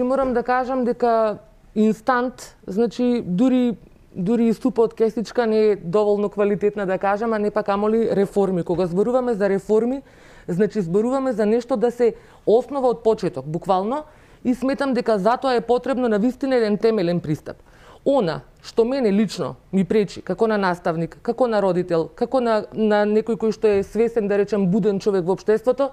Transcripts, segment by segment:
Морам да кажам дека инстант, значи дури и супа од кесичка не е доволно квалитетна да кажам, а не па камоли реформи. Кога зборуваме за реформи, значи зборуваме за нешто да се основа од почеток, буквално, и сметам дека затоа е потребно навистина еден темелен пристап. Она што мене лично ми пречи, како на наставник, како на родител, како на некој кој што е свесен, да речем, буден човек во општеството,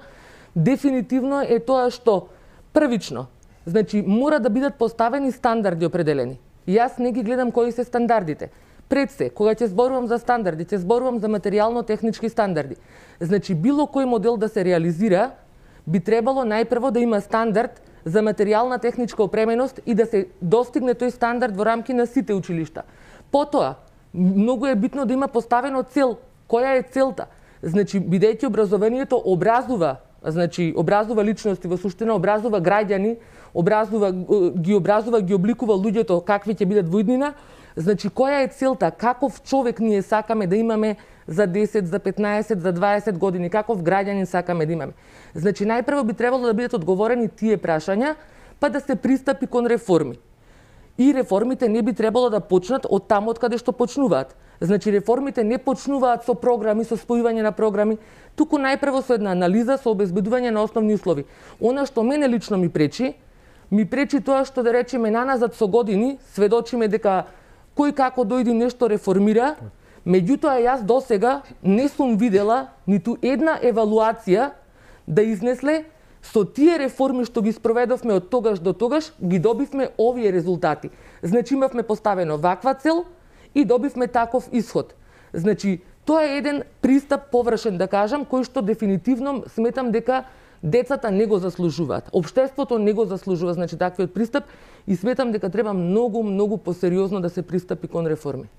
дефинитивно е тоа што првично, значи мора да бидат поставени стандарди определени. Јас не ги гледам кои се стандардите. Пред се, кога ќе зборувам за стандарди, ќе зборувам за материјално-технички стандарди. Значи било кој модел да се реализира, би требало најпрво да има стандард за материјална техничка опременост и да се достигне тој стандард во рамки на сите училишта. Потоа, многу е битно да има поставено цел. Која е целта? Значи, бидејќи образованието образува личности, во суштина образува граѓани, ги обликува луѓето какви ќе бидат во иднина. Значи, која е целта? Каков човек ние сакаме да имаме за 10, за 15, за 20 години? Каков граѓанин сакаме да имаме? Значи, најпрво би требало да бидат одговорени тие прашања, па да се пристапи кон реформи. И реформите не би требало да почнат од таму од каде што почнуваат. Значи, реформите не почнуваат со програми, со спојување на програми, туку најпрво со една анализа, со обезбедување на основни услови. Она што мене лично ми пречи тоа што, да речеме, наназад со години сведочиме дека кој како дојди нешто реформира, меѓутоа јас досега не сум видела ниту една евалуација да изнесле со тие реформи што ги спроведовме од тогаш до тогаш, ги добивме овие резултати. Значи имавме поставено ваква цел и добивме таков исход. Значи, тоа е еден пристап површен, да кажам, кој што дефинитивно сметам дека децата не го заслужуваат. Општеството не го заслужува, значи, таквиот пристап, и сметам дека треба многу посериозно да се пристапи кон реформи.